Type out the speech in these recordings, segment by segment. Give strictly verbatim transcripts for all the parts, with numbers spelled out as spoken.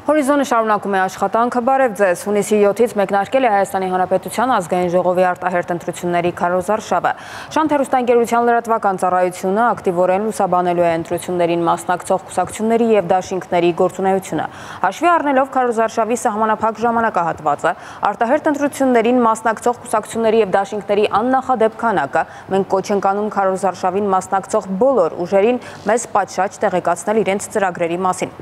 Հորիզոնը շարունակում է աշխատանքը, բարև ձեզ, հունիսի յոթից մեկնարկել է Հայաստանի Հանրապետության ազգային ժողովի արտահերթ ընտրությունների քարոզարշավը։ Շանթ հեռուստաընկերության լրատվական ծառայությունը ակտիվորեն լուսաբանելու է ընտրություններին մասնակցող կուսակցությունների և դաշինքների գործունեությունը։ Հաշվի առնելով քարոզարշավի սահմանափակ ժամանակահատվածը, արտահերթ ընտրություններին մասնակցող կուսակցությունների և դաշինքների աննախադեպ քանակը, մենք կոչ ենք անում քարոզարշավին մասնակցող բոլոր ուժերին մեզ պատշաճ տեղեկացնել իրենց ծրագրերի մասին։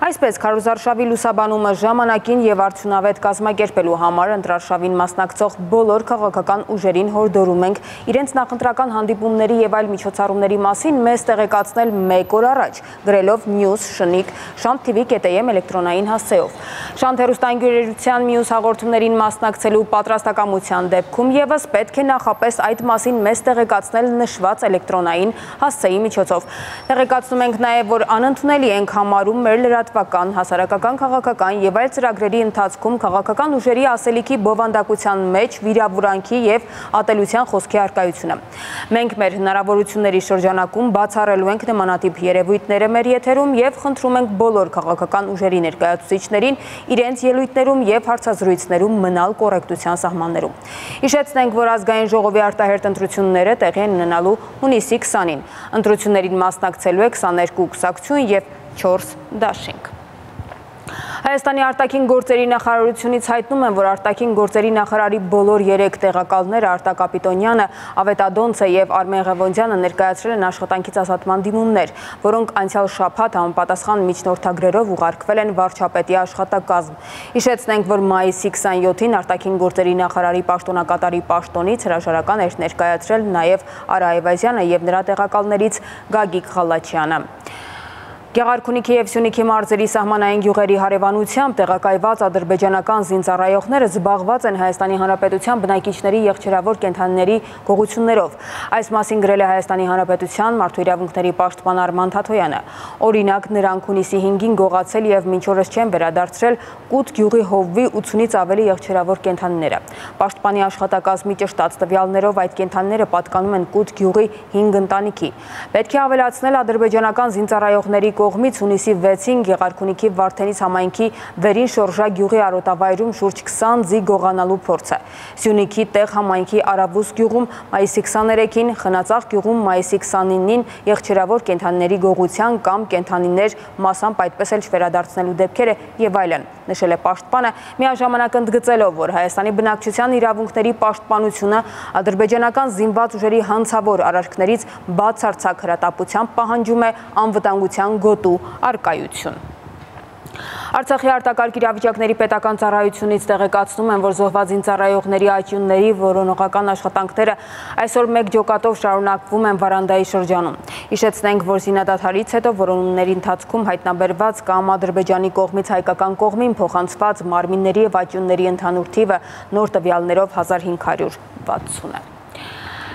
Այսպես քարոզարշավի լուսաբանումը ժամանակին և արդյունավետ կազմակերպելու համար ընտրարշավին մասնակցող բոլոր քաղաքական ուժերին հորդորում ենք իրենց նախընտրական հանդիպումների և այլ միջոցառումների մասին մեզ տեղեկացնել մեկ օր առաջ, գրելով news շնիկ շանթ թիվի կետ էմ էլեկտրոնային հասցեով։ Շանթ հեռուստաընկերության մյուս հաղորդումներին մասնակցելու պատրաստակամության դեպքում ևս պետք է նախապես այդ մասին մեզ տեղեկացնել նշված էլեկտրոնային հասցեի միջոցով։ Տեղեկացնում ենք նաև, որ անընդունելի ենք համարում մեր լրատվական, հասարակական, քաղաքական և այլ ծրագրերի ընթացքում քաղաքական ուժերի ասելիքի բովանդակության մեջ վիրավորանքի և ատելության խոսքի առկայությունը։ Մենք մեր հնարավորությունների շրջանակում բացառելու ենք նմանատիպ երևույթները մեր եթերում և խնդրում ենք բոլոր քաղաքական ուժերի ներկայացուցիչներին իրենց ելույթներում և հարցազրույցներում մնալ կոռեկտության սահմաններում։ Հիշեցնենք, որ ազգային ժողովի արտահերթ ընտրությունները տեղի են ունենալու հունիսի քսանին։ Ընտրություններին մասնակցելու է քսաներկու կուսակցություն և չորս դաշինք։ Հայաստանի արտաքին գործերի նախարարությունից հայտնում են, որ արտաքին գործերի նախարարի բոլոր երեք տեղակալները Արտակ Կապիտոնյանը, Ավետադոնցը և Արմեն Ղևոնդյանը ներկայացրել են աշխատանքից ազատման դիմումներ, որոնք անցյալ շաբաթ համապատասխան միջնորդագրերով ուղարկվել են վարչապետի աշխատակազմ։ Հիշեցնենք, որ մայիսի քսանյոթին արտաքին գործերի նախարարի պաշտոնակատարի պաշտոնից հրաժարական էր ներկայացրել նաև Արա Այվազյանը և նրա տեղակալներից Գագիկ Ղալաչյանը։ Գեղարքունիքի և Սյունիքի մարզերի սահմանային գյուղերի հարևանությամբ տեղակայված ադրբեջանական զինծառայողները զբաղված են Հայաստանի Հանրապետության բնակիչների եղջերավոր կենդանիների գողություններով։ Այս մասին գրել է Հայաստանի Հանրապետության մարդու իրավունքների պաշտպան Արման Թաթոյանը։ Օրինակ, նրանք հունիսի հինգին գողացել և մինչ օրս չեն վերադարձրել Կուտ գյուղի հովվի ութսունից ավելի եղջերավոր կենդանիները։ Պաշտպանի աշխատակազմի ճշտած տվյալներով այդ կենդանիները պատկանում են Կուտ գյուղի հինգ ընտանիքի։ Պետք է ավելացնել ադրբեջանական զինծառայողների կողմից հունիսի վեցին Գեղարքունիքի Վարդենիս համայնքի Վերին Շորժա գյուղի արոտավայրում շուրջ քսան ձի գողանալու փորձը։ Սյունիքի Տեղ համայնքի Արավուս գյուղում մայիսի քսաներեքին, Խնածաղ գյուղում մայիսի քսանինին եղջերավոր կենդանիների գողության կամ կենդանիներ մասամբ այդպես էլ չվերադարձնելու դեպքերը եւ այլն, նշել է պաշտպանը, միաժամանակ ընդգծելով, որ Հայաստանի բնակչության իրավունքների պաշտպանությունը ադրբեջանական զինված ուժերի հանցավոր արարքներից բացարձակ հրատապությամբ պահանջում է անվտանգության գոտու առկայություն։ Արցախի արտակարգ իրավիճակների պետական ծառայությունից տեղեկացնում են, որ զոհված զինծառայողների աճյունների որոնողական աշխատանքները այսօր մեկ ջոկատով շարունակվում են Վարանդայի շրջանում։ Հիշեցնենք, որ զինադադարից հետո որոնումների ընթացքում հայտնաբերված կամ Ադրբեջանի կողմից հայկական կողմին փոխանցված մարմինների և աճյունների ընդհանուր թիվը նոր տվյալներով հազար հինգ հարյուր վաթսուն է։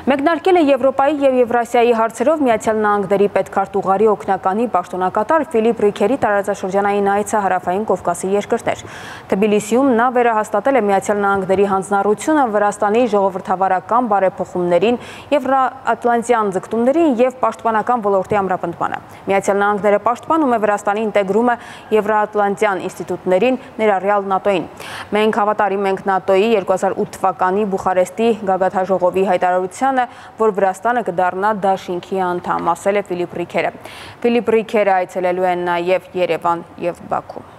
Մեկնարկել է Եվրոպայի և Եվրասիայի հարցերով Միացյալ Նահանգների պետքարտուղարի օգնականի պաշտոնակատար Ֆիլիպ Ռիքերի տարածաշրջանային այցը Հարավային Կովկասի երկրներ։ Թբիլիսիում նա վերահաստատել է Միացյալ Նահանգների հանձնառությունը Վրաստանի ժողովրդավարական բարեփոխումներին, եվրոատլանտյան ձգտումներին և պաշտպանական ոլորտի ամրապնդմանը։ Միացյալ Նահանգները պաշտպանում է Վրաստանի ինտեգրումը եվրոատլանտյան ինստիտուտներին, ներառյալ ՆԱՏՕ-ին։ Մենք հավատարիմ ենք ՆԱՏՕ-ի երկու հազար ութ թվականի Բուխարեստի գագաթնաժողովի հայտարարության, որ Վրաստանը կդառնա դաշինքի անդամ, ասել է Ֆիլիպ Ռիքերը։ Ֆիլիպ Ռիքերը այցելելու են նաև Երևան և Բաքու։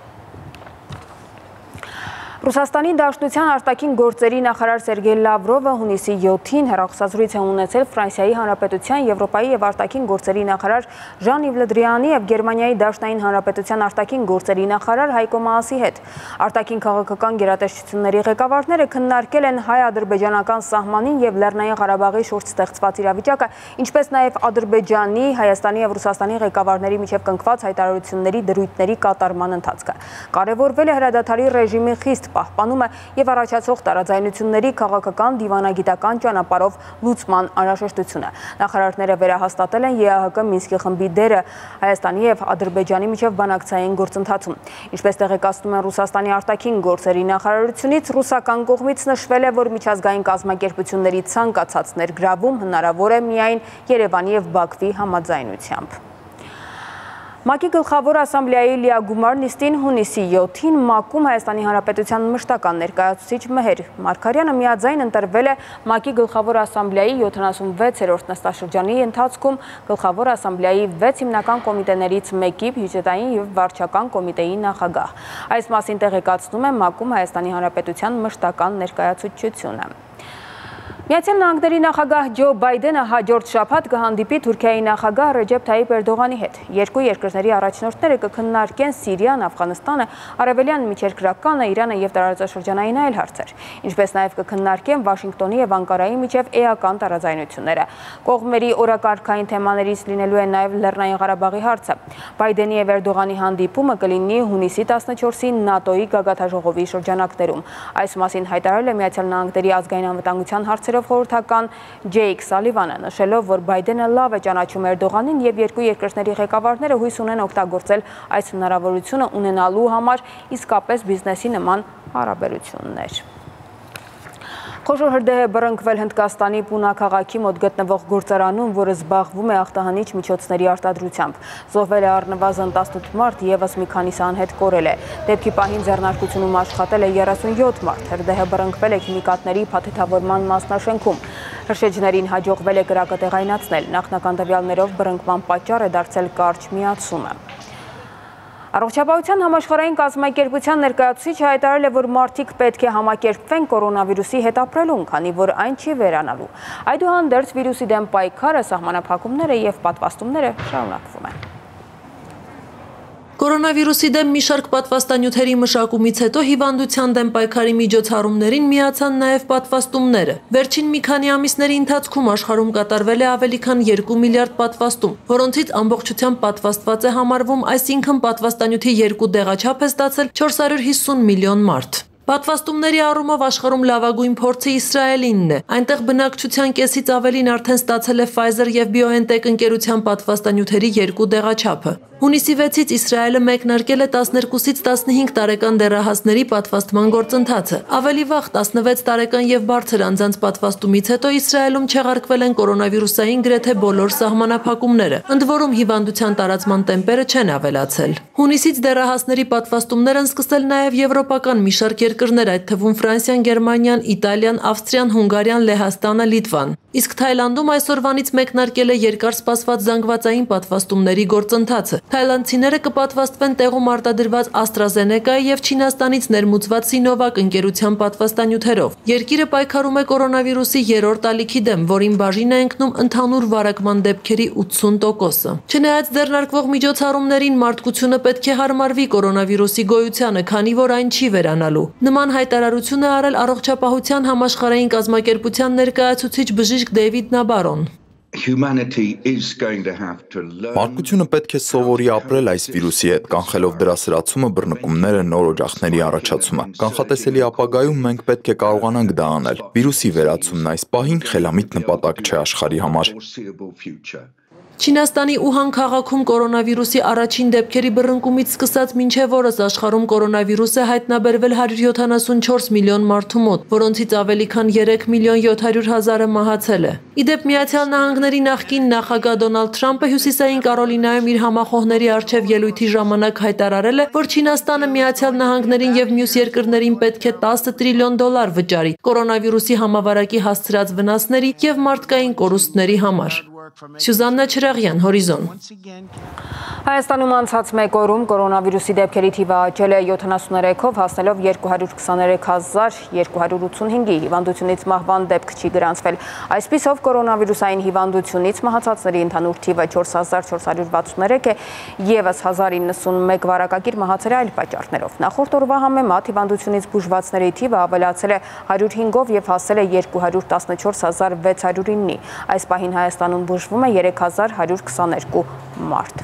Ռուսաստանի Դաշնության արտաքին գործերի նախարար Սերգեյ Լավրովը հունիսի յոթին հեռախոսազրույց է ունեցել Ֆրանսիայի Հանրապետության, Եվրոպայի և արտաքին գործերի նախարար Ժան-Իվ Լը Դրիանի և Գերմանիայի Դաշնային Հանրապետության արտաքին գործերի նախարար Հայկո Մաասի հետ։ Արտաքին քաղաքական գերատեսչությունների ղեկավարները քննարկել են հայ-ադրբեջանական սահմանին և Լեռնային Ղարաբաղի շուրջ ստեղծված իրավիճակը, ինչպես նաև Ադրբեջանի, Հայաստանի և Ռուսաստանի ղեկավարների միջև կնքված հայտարարությունների դրույթների կատարման ընթացքը։ Կարևորվել է հրադադարի ռեժիմի խիստ պահպանումը և առաջացող տարաձայնությունների քաղաքական դիվանագիտական ճանապարհով լուծման անհրաժեշտությունը։ Նախարարները վերահաստատել են ԵԱՀԿ Մինսկի խմբի դերը Հայաստանի և Ադրբեջանի միջև բանակցային գործընթացում։ Ինչպես տեղեկացնում են Ռուսաստանի արտաքին գործերի նախարարությունից, ռուսական կողմից նշվել է, որ միջազգային կազմակերպությունների ցանկացած ներգրավում հնարավոր է միայն Երևանի և Բաքվի համաձայնությամբ։ ՄԱԿ-ի գլխավոր ասամբլեայի լիագումար նիստին հունիսի յոթին ՄԱԿ-ում Հայաստանի Հանրապետության մշտական ներկայացուցիչ Մեհեր Մարգարյանը միաձայն ընտրվել է ՄԱԿ-ի գլխավոր ասամբլեայի յոթանասունվեցերորդ նստաշրջանի ընթացքում գլխավոր ասամբլեայի վեց հիմնական կոմիտեներից մեկի բյուջետային և վարչական կոմիտեի նախագահ։ Այս մասին տեղեկացնում է ՄԱԿ-ում Հայաստանի Հանրապետության մշտական ներկայացուցչությունը։ Միացյալ Նահանգների նախագահ Ջո Բայդենը հաջորդ շաբաթ կհանդիպի Թուրքիայի նախագահ Ռեջեփ Թայիփ Էրդողանի հետ։ Երկու երկրների առաջնորդները կքննարկեն Սիրիան, Աֆղանստանը, Արևելյան Միջերկրականը, Իրանը և տարածաշրջանային այլ հարցեր, ինչպես նաև կքննարկեն Վաշինգտոնի և Անկարայի միջև էական տարաձայնությունները։ Կողմերի օրակարգային թեմաներից լինելու է նաև Լեռնային Ղարաբաղի հարցը։ Բայդենի և Էրդողանի հանդիպումը կլինի հունիսի տասնչորսին ՆԱՏՕ-ի գագաթնաժողովի շրջանակներում։ Այս մասին հայտարարել է Միացյալ Նահանգների ազգային անվտանգության հարցերով խորհրդական Ջեյք Սալիվանը, նշելով, որ Բայդենը լավ է ճանաչում Էրդողանին և երկու երկրների ղեկավարները հույս ունեն օգտագործել այս հնարավորությունը ունենալու համար իսկապես բիզնեսի նման հարաբերություններ։ Խոշոր հրդեհ է բռնկվել Հնդկաստանի Պունա քաղաքի մոտ գտնվող գործարանում, որը զբաղվում է աղտահանիչ միջոցների արտադրությամբ։ Զոհվել է առնվազն տասնութ մարդ, ևս մի քանիսը անհետ կորել է։ Դեպքի պահին ձեռնարկությունում աշխատել է երեսունյոթ մարդ։ Հրդեհը բռնկվել է քիմիկատների փաթեթավորման մասնաշենքում։ Հրշեջներին հաջողվել է կրակը տեղայնացնել։ Նախնական տվյալներով բռնկման պատճառ է դարձել կարճ միացումը։ Առողջապահության համաշխարհային կազմակերպության ներկայացուցիչը հայտարարել է, որ մարդիկ պետք է համակերպվեն կորոնավիրուսի հետ ապրելուն, քանի որ այն չի վերանալու։ Այդուհանդերձ վիրուսի դեմ պայքարը, սահմանափակումները և պատվաստումները շարունակվում են։ Կորոնավիրուսի դեմ մի շարք պատվաստանյութերի մշակումից հետո հիվանդության դեմ պայքարի միջոցառումներին միացան նաև պատվաստումները։ Վերջին մի քանի ամիսների ընթացքում աշխարհում կատարվել է ավելի քան երկու միլիարդ պատվաստում, որոնցից ամբողջությամբ պատվաստված է համարվում, այսինքն պատվաստանյութի երկու դեղաչափ է ստացել չորս հարյուր հիսուն միլիոն մարդ։ Պատվաստումների առումով աշխարհում լավագույն փորձը Իսրայելինն է։ Այնտեղ բնակչության կեսից ավելին արդեն ստացել է Pfizer և BioNTech ընկերության պատվաստանյութերի երկու դեղաչափը։ Հունիսի վեցից Իսրայելը մեկնարկել է տասներկուսից տասնհինգ տարեկան դեռահասների պատվաստման գործընթացը։ Ավելի վաղ տասնվեց տարեկան և բարձր անձանց պատվաստումից հետո Իսրայելում չեղարկվել են կորոնավիրուսային գրեթե բոլոր սահմանափակումները, ընդ որում հիվանդության տարածման տեմպերը չեն ավելացել։ Հունիսից դեռահասների պատվաստումներ են սկսել նաև եվրոպական մի շարք երկրներ, այդ թվում Ֆրանսիան, Գերմանիան, Իտալիան, Ավստրիան, Հունգարիան, Լեհաստանը, Լիտվան։ Իսկ Թայլանդում այսօրվանից մեկնարկել է երկար սպասված զանգվածային պատվաստումների գործընթացը։ Թայլանդցիները կպատվաստվեն տեղում արտադրված AstraZeneca-ի և Չինաստանից ներմուծված Sinovac ընկերության պատվաստանյութերով։ Երկիրը պայքարում է կորոնավիրուսի երրորդ ալիքի դեմ, որին բաժին է ընկնում ընդհանուր վարակման դեպքերի ութսուն տոկոսը։ Չնայած ձեռնարկվող միջոցառումներին, մարդկությունը պետք է հարմարվի կորոնավիրուսի գոյությանը, քանի որ այն չի վերանալու։ Նման հայտարարություն է արել Առողջապահության համաշխարհային կազմակերպության ներկայացուցիչ բժիշկ Դեյվիդ Նաբարոն։ Մարդկությունը պետք է սովորի ապրել այս վիրուսի հետ, կանխելով դրա սրացումը, բռնկումները, նոր օջախների առաջացումը։ Կանխատեսելի ապագայում մենք պետք է կարողանանք դա անել։ Վիրուսի վերացումն այս պահին խելամիտ նպատակ չէ աշխարհի համար։ Չինաստանի Ուհան քաղաքում կորոնավիրուսի առաջին դեպքերի բռնկումից սկսած մինչև օրս աշխարհում կորոնավիրուս է հայտնաբերվել հարյուր յոթանասունչորս միլիոն մարդու մոտ, որոնցից ավելի քան երեք միլիոն յոթ հարյուր հազարը մահացել է։ Ի դեպ Միացյալ Նահանգների նախկին նախագահ Դոնալդ Թրամփը Հյուսիսային Կարոլինայում իր համախոհների առջև ելույթի ժամանակ հայտարարել է, որ Չինաստանը Միացյալ Նահանգներին և մյուս երկրներին պետք է տասը տրիլիոն դոլար վճարի կորոնավիրուսի համավարակի հասցրած վնասների և մարդկային կորուստների համար։ Սյուզաննա Չրաղյան, Հորիզոն։ Հայաստանում անցած մեկ օրում կորոնավիրուսի դեպքերի թիվը աճել է յոթանասուներեքով, հասնելով երկու հարյուր քսաներեք հազար երկու հարյուր ութսունհինգի, հիվանդությունից մահվան դեպք չի գրանցվել։ Այսպիսով կորոնավիրուսային հիվանդությունից մահացածների ընդհանուր թիվը չորս հազար չորս հարյուր վաթսուններեք է, ևս հազար իննսունմեկ վարակագիր մահացել է այլ պատճառներով։ Նախորդ օրվա համեմատ հիվանդությունից բուժվածների թիվը ավելացել է հարյուր հինգով և հասել է երկու հարյուր տասնչորս հազար վեց հարյուր իննի։ Այս պահին Հայաստանում բուժվում է երեք հազար հարյուր քսաներկու մարդ։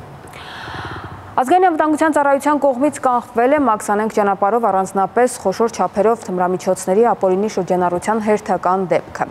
Ազգային անվտանգության ծառայության կողմից կանխվել է Մաքսանենգ ճանապարհով առանձնապես խոշոր չափերով թմրամիջոցների ապօրինի շրջանառության հերթական դեպքը։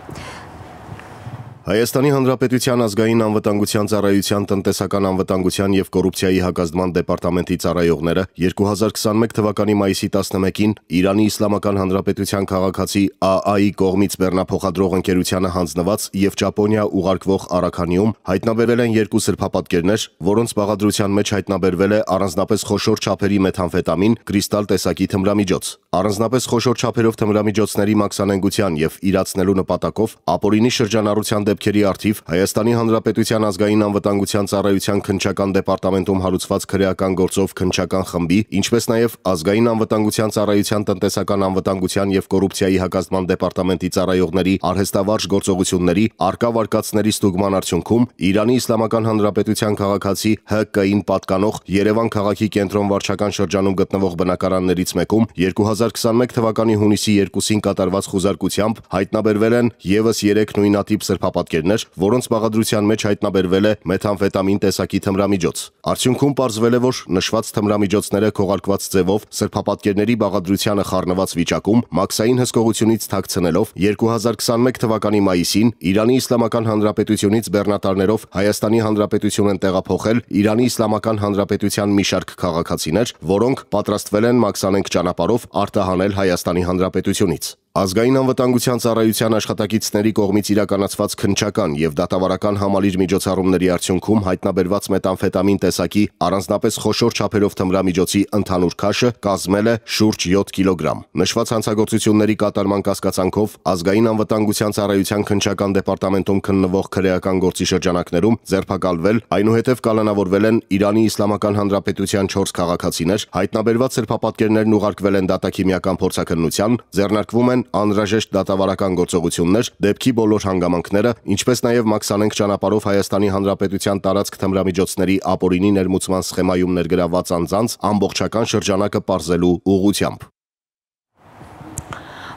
Հայաստանի Հանրապետության ազգային անվտանգության ծառայության տնտեսական անվտանգության եւ կոռուպցիայի հակազդման դեպարտամենտի ծառայողները երկու հազար քսաներկու թվականի մայիսի տասնմեկին Իրանի Իսլամական Հանրապետության քաղաքացի Ա Ա-ի կողմից բեռնափոխադրող ընկերությանը հանձնված եւ Ճապոնիա ուղարկվող առաքանիում հայտնաբերվել են երկու սրբապատկերներ, որոնց բաղադրության մեջ հայտնաբերվել է առանձնապես խոշոր չափերի մեթամֆետամին, կրիստալ տեսակի թմրամիջոց։ Առանձնապես խոշոր չափերով թմրամիջոցների մաքսանենգության եւ իրացնելու նպատակով ապօրինի շրջանառության դեպքերի առթիվ Հայաստանի Հանրապետության ազգային անվտանգության ծառայության քննչական դեպարտամենտում հարուցված քրեական գործով քննչական խմբի, ինչպես նաև ազգային անվտանգության ծառայության տնտեսական անվտանգության եւ կոռուպցիայի հակազդման դեպարտամենտի ծառայողների արհեստավարժ գործողությունների արկա վարկածների ստուգման արդյունքում Իրանի Իսլամական Հանրապետության քաղաքացի Հ Կ-ին պատկանող Երևան քաղաքի կենտրոն վարչական շրջանում գտնվող բնակարաններից մեկում երկու հազար քսաներկու թվականի հունիսի երկուսին կատարված խուզարկությամբ հայտնաբերվել են եւս երեք նույնատիպ սրբապատկերներ, որոնց բաղադրության մեջ հայտնաբերվել է մեթամֆետամին տեսակի թմրամիջոց։ Արդյունքում պարզվել է, որ նշված թմրամիջոցները քողարկված ձևով սրբապատկերների բաղադրությանը խառնված վիճակում մաքսային հսկողությունից թաքցնելով երկու հազար քսաներկու թվականի մայիսին Իրանի Իսլամական Հանրապետությունից բեռնատարներով Հայաստանի Հանրապետություն են տեղափոխել Իրանի Իսլամական Հանրապետության մի շարք քաղաքացիներ, որոնք պատրաստվել են մաքսանենգ ճանապարհով արտահանել Հայաստանի Հանրապետությունից։ Ազգային անվտանգության ծառայության աշխատակիցների կողմից իրականացված քննչական եւ դատավարական համալիր միջոցառումների արդյունքում հայտնաբերված մեթամֆետամին տեսակի առանձնապես խոշոր չափերով թմրամիջոցի ընդհանուր քաշը կազմել է շուրջ յոթ կիլոգրամ։ Նշված հանցագործությունների կատարման կասկածանքով ազգային անվտանգության ծառայության քննչական դեպարտամենտում քննվող քրեական գործի շրջանակներում ձերբակալվել, այնուհետև կալանավորվել են Իրանի Իսլամական Հանրապետության չորս քաղաքացիներ, հայտնաբերված սրբապատկերներն ուղարկվել են դատաքիմիական փորձաքննության, ձեռնարկվում են անհրաժեշտ դատավարական գործողություններ, դեպքի բոլոր հանգամանքները, ինչպես նաև մաքսանենգ ճանապարհով Հայաստանի Հանրապետության տարածք թմրամիջոցների ապօրինի ներմուծման սխեմայում ներգրավված անձանց ամբողջական շրջանակը պարզելու ուղղությամբ։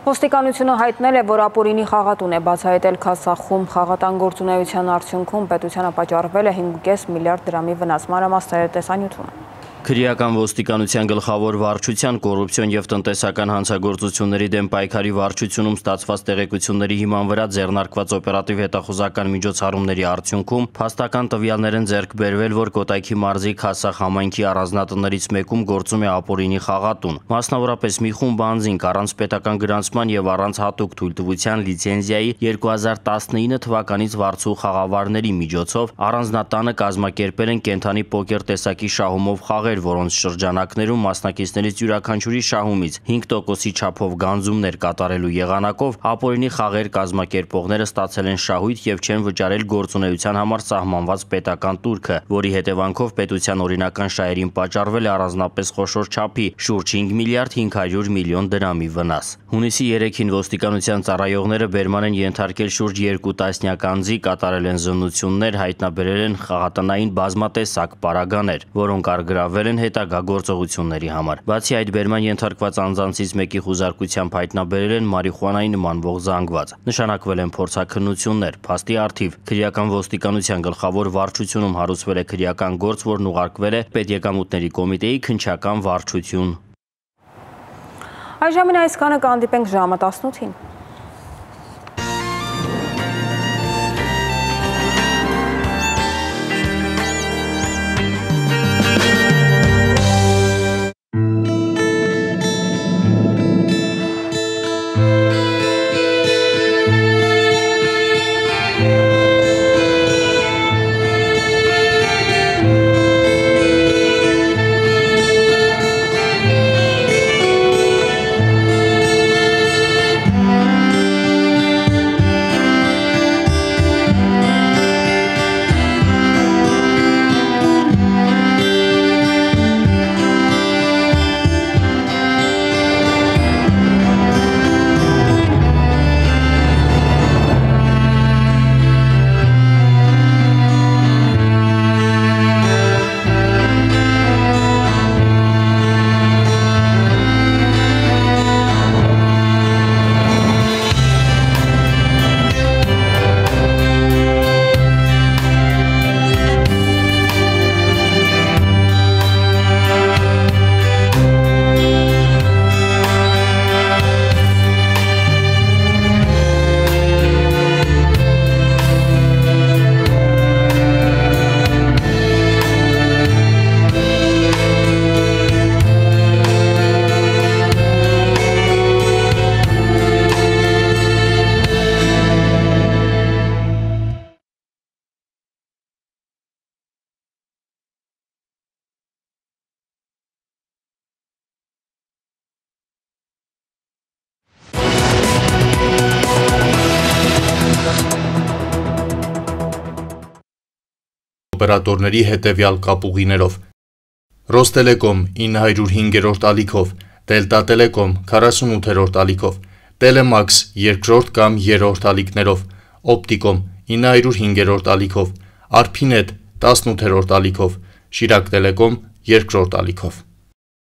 Ոստիկանությունը հայտնել է, որ ապօրինի խաղատուն է բացահայտել Քասախում խաղատան գործունեության արդյունքում պետությանը պատճառվել է հինգ կես միլիարդ դրամի վնաս։ Մանրամասները տեսանյութում։ Քրեական ոստիկանության գլխավոր վարչության կոռուպցիոն եւ տնտեսական հանցագործությունների դեմ պայքարի վարչությունում ստացված տեղեկությունների հիման վրա ձեռնարկված օպերատիվ հետախուզական միջոցառումների արդյունքում փաստական տվյալներ են ձեռք բերվել, որ Կոտայքի մարզի Քասախ համայնքի առանձնատներից մեկում գործում է ապօրինի խաղատուն։ Մասնավորապես մի խումբ անձինք առանց պետական գրանցման եւ առանց հատուկ թույլտվության լիցենզիայի երկու հազար տասնինը թվականից վարձու խաղավարների միջոցով առանձնատանը կազմակերպել են կենթանի պոկեր տեսակի շահումով խաղեր, որոնց շրջանակներում մասնակիցներից յուրաքանչյուրի շահումից հինգ տոկոսի չափով գանձումներ կատարելու եղանակով ապօրինի խաղեր կազմակերպողները ստացել են շահույթ եւ չեն վճարել գործունեության համար սահմանված պետական տուրքը, որի հետևանքով պետության օրինական շահերին պատճառվել է առանձնապես խոշոր չափի շուրջ հինգ միլիարդ հինգ հարյուր միլիոն դրամի վնաս։ Հունիսի երեքին ոստիկանության ծառայողները բերման են ենթարկել շուրջ երկու տասնյակ անձի, կատարել են զննություններ, հայտնաբերել են խաղատնային բազմատեսակ պարագաներ, որոնք արգրավել են հետագա գործողությունների համար։ Բացի այդ, բերման ենթարկված անձանցից մեկի խուզարկությամբ հայտնաբերել են մարիխուանայի նմանվող զանգված։ Նշանակվել են փորձաքննություններ։ Փաստի առթիվ քրեական ոստիկանության գլխավոր վարչությունում հարուցվել է քրեական գործ, որն ուղարկվել է Պետեկամուտների կոմիտեի քննչական վարչություն։ Այժմ այսքանը, կհանդիպենք ժամը տասնութին։ Yeah. օպերատորների հետևյալ կապուղիներով. Ռոստելեկոմ ինը հարյուր հինգերորդ ալիքով, Դելտա Տելեկոմ քառասունութերորդ ալիքով, Տելեմաքս երկրորդ կամ երրորդ ալիքներով, Օպտիկոմ ինը հարյուր հինգերորդ ալիքով, Արփինետ տասնութերորդ ալիքով, Շիրակ Տելեկոմ երկրորդ ալիքով։